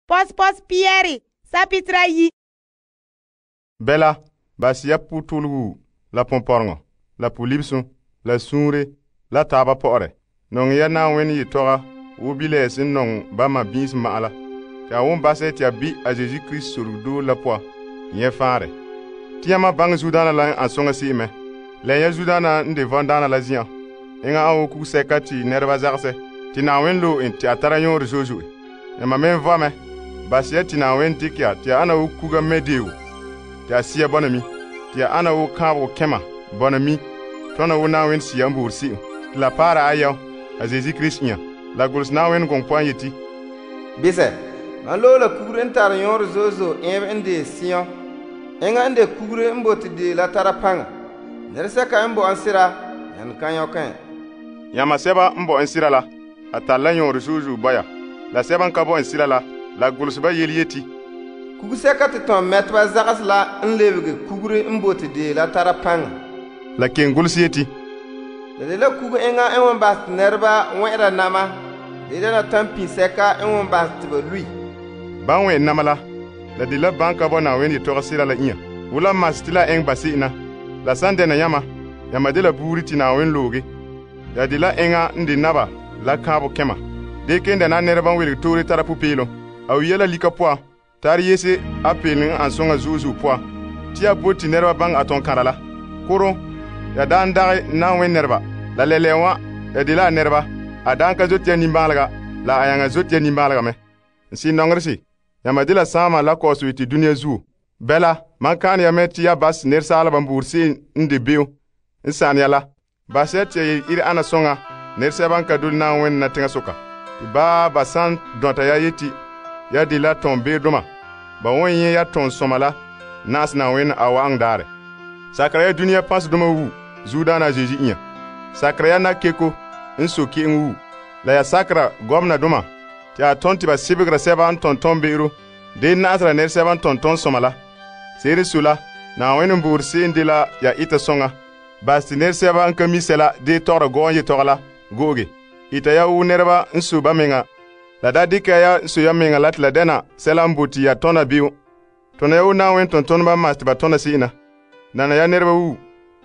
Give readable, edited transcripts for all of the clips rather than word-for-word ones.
Pos Pierre sapitra yi. Bela, basi ya putulgu la pomporeŋo, la polibsum, la suunre, la taaba pɔ'ɔrɛ. Nɔŋɛ ya Na'ayenɛ yetɔga wo bilam sen nɔŋɛ ba ma biis ma'an la. Te a won basɛ te a bi a Yesu Krista sorogdoo la poan nyɛ faanrɛ. Te yãma baŋɛ zuodaana la n an soŋa se'em mɛ. La ya zuodaana n de vɔndaana la zen'an. Enŋa an wo kugsɛka te nɛreba zagesɛ. Te Na'ayenɛ loe en te a tara yɔɔrɛ zo'e zo'e. Yãma me n vɔ mɛ. Basi ya te Na'ayenɛ dikɛ ya te a ana wo kuga mɛdeeo. Te a sia bɔna mi. Te a ana wo kaanbegɔ kɛma bɔna mi. Tɔna wo Na'ayenɛ Sea n boore se'em. Te la paara a yɛo a Yesu Krista inya. La golse Na'ayenɛ gɔŋɔ poan yeti. Bisɛ, man loe la kugure n tare yɔɔrɛ zo'e zo'e ɛɛbɛ n de Sion. Enŋa n de kugure n bote de la tara paŋa. Nɛresɛka n bo an sera, yan kan yɔkɛ. Yãma sɛba n bo en sira la, a tare la yɔɔrɛ zo'e zo'e bɔya. La sɛba n ka bo en sira la, la golse ba yele yeti. Kugsɛka te tõn mɛteba zagas la n lebege kugure n bote de la tara paŋa. La ken golse yeti. La de la kugu enŋa n wan bahɛ te nɛreba wɛ'ɛra nama, de dena tampin-sɛka n wan bahɛ te ba lui. Ban wɛn nama la de la ban ka bo Na'ayenɛ yetɔgɔ sira la inya. Wula mas te la eŋ ba se'em na. La san dɛna yãma de la buuri te Na'ayenɛ looge. Ya de la eŋa n de naba la kaanbegɔ kɛma. De ken dɛna nɛreba n welege toore tara pupeelum. A wiya la lika poan, tare yese a peelum n an soŋa zo'e zo'e poan. Te ya bote te nɛreba baŋɛ a tõn-kãra la. Koro, ya daan dagɛ Na'ayenɛ nɛreba. La lɛlɛɛ wã, ya de la a nɛreba. A daan ka zote ya nimbãalega, la a yaŋa zote ya nimbãalega mɛ. N sɩ nɔŋerese, yãma de la saama la kɔɔsɔ te dũniyã zuo. Bɛla, man kãane ya mɛ te ya bas nɛresaalba n boore se'em n de be'em n sãn ya la. Bas ya te ya yel-ire ana soŋa nɛresɛba n ka dole Na'ayenɛ na teŋasoka. Te ba san dɔnta ya yeti ya de la tɔn-beedoma, ba wan yẽ ya tɔn-sɔma la na'asɛ Na'ayenɛ a wa'aŋ daarɛ. Sakera ya dũniyã pãsdoma wu zuodaana Zeezi inya. Sakera ya nakeko n so ke'en wu. La ya sakera gɔmnadoma te a tõn te ba sebegera sɛba n tɔn tɔn-be'ero de na'asera nɛresɛba n tɔn tɔn-sɔma la. Se'ere so la, Na'ayenɛ n boore se'em de la ya ita soŋa. Bas te nɛresɛba n ka mi sɛla de tɔgera gɔɔn yetɔgɔ la go'oge. Ita ya wo nɛreba n so ba menga. La da dɩka ya n so ya menga la te la dɛna sɛla n bote ya tɔna be'em. Tɔna ya wo Na'ayenɛ tɔn-tɔneba n mas te ba tɔna se'em na. Nana ya nɛreba wu.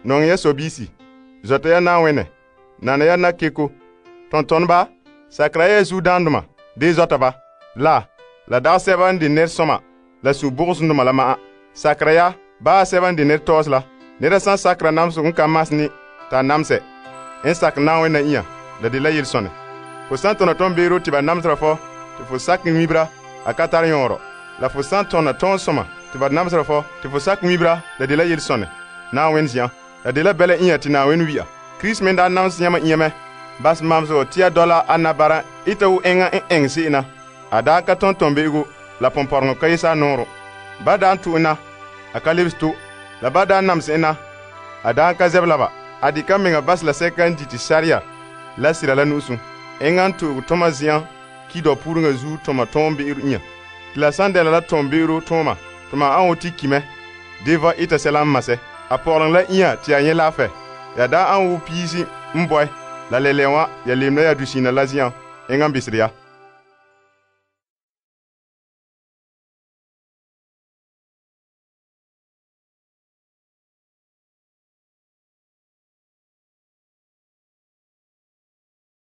Nɔŋɛ ya sɔbiisi. Zɔta ya Na'ayenɛ. Nana ya nakeko. Tɔn-tɔneba, sakera ya zuodaandoma de zɔta ba. La dagɛ sɛba n de nɛresɔma la sũ-bʋgsendoma la ma'an. Sakera ya baa sɛba n de nɛretɔɔse la. Nɛra san sakera namseg n ka mas ne t'a namsɛ n sak Na'ayenɛ na inya, la de la yel-sõne. Fo san tɔna tɔn-beero te ba namsera fɔ te fo sak ŋmibra, a ka tar yõorɔ. La fo san tɔna tɔn-sɔma te ba namsera fɔ te fo sak ŋmibra, la de la yel-sõne Na'ayenɛ zi'an. La de la bɛla inya te Na'ayenɛ wi'a. Krista me daa nams yãmba inya mɛ. Bas mamsegɔ te ya dɔla a nabara ita wo eŋa n ɛŋ se'em na. A daa ka tõn tɔn-be'ego la pɔmpɔreŋɔ ka yesa a nooro. Ba daa n tu'en na, a ka lebs to. La ba daa namse en na, a daa ka zɛbla ba. A dɩka meŋa bas la sɛka n dite saria la sira la nu'usum. Eŋa n to'og tõma zi'an kidɔ pureŋa zuo tɔma tɔn-be'ero inya. Te la san dɛna la tɔn-be'ero tõoma, tɔma an wo tɩ ki mɛ. Deva ita sɛla n masɛ. A pɔgɔleŋ la inya tɩ ya nyɛ laafɛ. Ya daa an wo piisi n bɔɛ. La lɛlɛɛ wã, ya lemda ya dusiina la zi'an, eŋa n bisere ya.